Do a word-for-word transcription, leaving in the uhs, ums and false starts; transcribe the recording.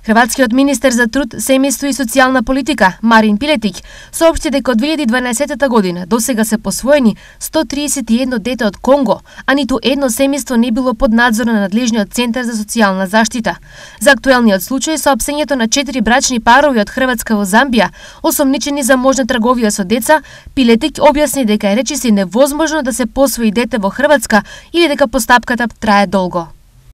Хрватскиот министер за труд, семејство и социјална политика Марин Пилетик соопшти дека од две илјади и дванаесетта година досега се посвоени сто триесет и едно дете од Конго, а ниту едно семејство не било под надзор на надлежниот центар за социјална заштита. За актуелниот случај соопштењето на четири брачни парови од Хрватска во Замбија, осомничени за можна трговија со деца, Пилетик објасни дека е речиси невозможно да се посвои дете во Хрватска или дека постапката трае долго.